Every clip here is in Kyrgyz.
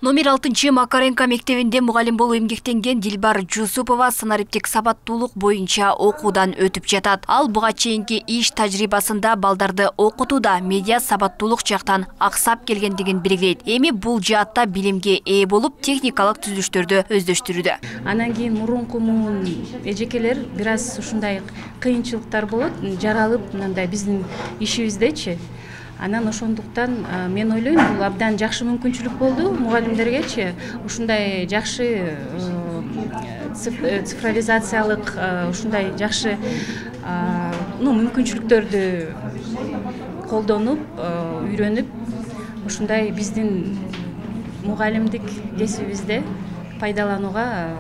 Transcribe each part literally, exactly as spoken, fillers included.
Номер алтынчы Макаренко мектебинде мугалим болуп эмгектенген Дилбар Жусупова санариптик сабаттуулук боюнча окуудан өтүп жатат. Ал буга чейинки иш тажрыйбасында балдарды окутууда медиа сабаттуулук жактан аксап келгендигин белгилейт. Эми бул жаатта билимге ээ болуп, техникалык түзүлүштөрдү өздөштүрүүдө. Анан кийин мурунку муун эжекелер бир аз ушундай кыйынчылыктар болот, жаралып мындай биздин ишибиздечи. Анан ошондуктан мен ойлойм, бул абдан жакшы мүмкүнчүлүк болду мугалимдергечи. Ушундай жакшы цифровизациялык ушундай жакшы ну мүмкүнчүлүктөрдү колдонуп, үйрөнүп, ушундай биздин мугалимдик кесибибизде пайдаланууга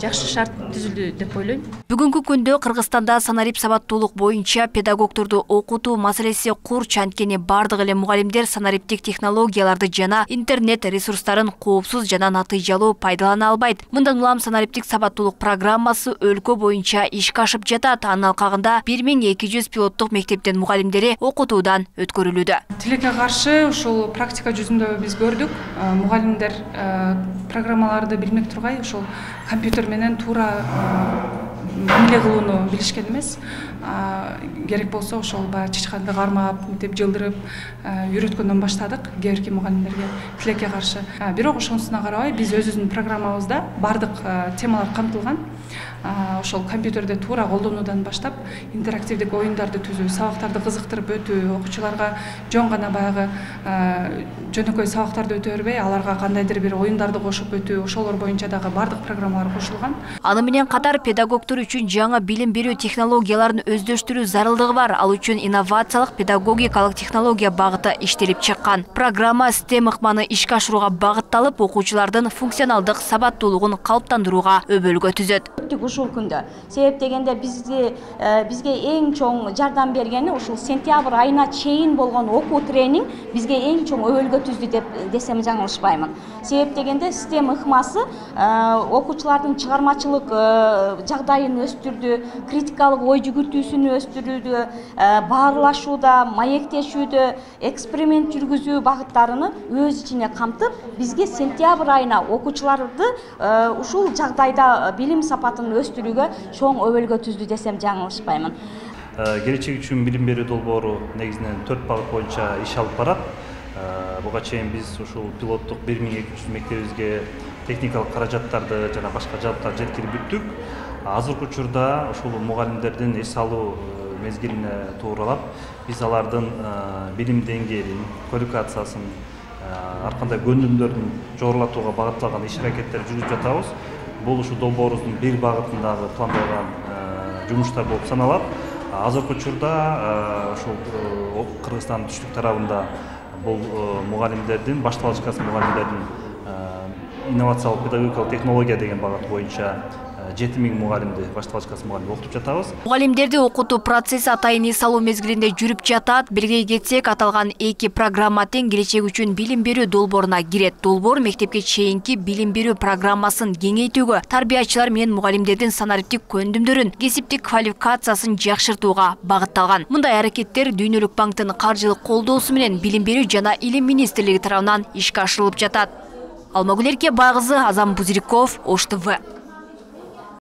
жакшы шарт түзүлдү деп ойлойм. Бүгүнкү күндө Кыргызстанда санарип сабаттуулук боюнча педагогдорду окутуу маселеси курч, анткени бардык эле мугалимдер санариптик технологияларды жана интернет ресурстарын коопсуз жана натыйжалуу пайдалана албайт. Мындан улам санариптик сабаттуулук программасы өлкө боюнча ишке ашып жатат. Анын алкагында бир миң эки жүз пилоттук мектептин мугалимдери окутуудан өткөрүлүүдө. Тилекке каршы ушул практика жүзүндө биз көрдүк. Мугалимдер программаларды билмек тургай ошол компьютер менен туура эмне кылууну билишкен эмес. Керек болсо ошол баягы чычканды кармап, мынтип жылдырып үйрөткөндөн баштадык кээ бирки мугалимдерге тилекке каршы. Бирок ошонусуна карабай биз өзүбүздүн программабызда бардык темалар камтылган. Ошол компьютерди туура колдонуудан баштап интерактивдик оюндарды түзүү, сабактарды кызыктырып өтүү, окуучуларга жөн гана баягы жөнөкөй сабактарды өтө бербей, аларга кандайдыр бир оюндарды кошуп өтүү, ошолор боюнча дагы бардык программалар кошулган. Аны менен катар педагогдор үчүн жаңы билим берүү технологияларын өздөштүрүү зарылдыгы бар. Ал үчүн инновациялык педагогикалык технология багыты иштелип чыккан. Программа STEM ыкманы ишке ашырууга багытталып, окуучулардын функционалдык сабаттуулугун калыптандырууга өбөлгө түзөт. Ушул күндө себеп дегенде бизге бизге эң чоң жардам бергени ушул сентябрь айына чейин болгон окуу тренинг бизге эң чоң өбөлгө түздү деп десем жаңылышпаймын. Себеп дегенде STEM ыкмасы окуучулардын чыгармачылык жагдайын өстүрдү, критикалык ой жүгүртүүсүн өстүрүүдө, баарлашууда, маектешүүдө, эксперимент жүргүзүү багыттарыны өз ичине камтып, бизге сентябрь айына окуучуларды ушул жагдайда билим сапатын өстүрүүгө чоң өбөлгө түздү десем жаңылышпаймын. Келечек үчүн билим берүү долбоору негизинен төрт багыт боюнча иш алып барат. Буга чейин биз ушул пилоттук бир миң эки жүз мектебибизге техникалык каражаттарды жана башка жабдыктарды жеткирип бүттүк. Азыркы учурда ушул мугалимдердин эс алуу мезгилине тууралап, биз алардын билим деңгээлин, квалификациясын, ар кандай көндүмдөрүн жогорулатууга багытталган иш аракеттер жүргүзүп жатабыз. Бул ушу долбоорубуздун бир багытындагы пландалган жумуштар болуп саналат. Азыркы учурда ушул Кыргызстандын түштүк тарабында бул мугалимдердин, башталгыч мугалимдердин инновациялык педагогикалык технология деген багыт боюнча жети миң мугалимди, башталгыч мугалимди окутуп жатабыз. Мугалимдерди окутуу процесси атайын эс алуу мезгилинде жүрүп жатат. Белгилей кетсек, аталган эки программа тең келечек үчүн билим берүү долбооруна кирет. Долбоор мектепке чейинки билим берүү программасын кеңейтүүгө, тарбиячылар менен мугалимдердин санариптик көндүмдөрүн, кесиптик квалификациясын жакшыртууга багытталган. Мындай аракеттер Дүйнөлүк банктын каржылык колдоосу менен Билим берүү жана Илим министрлиги тарабынан ишке ашырылып жатат. Алмагүл Эркебайкызы, Азам Бузириков, Ош ТВ.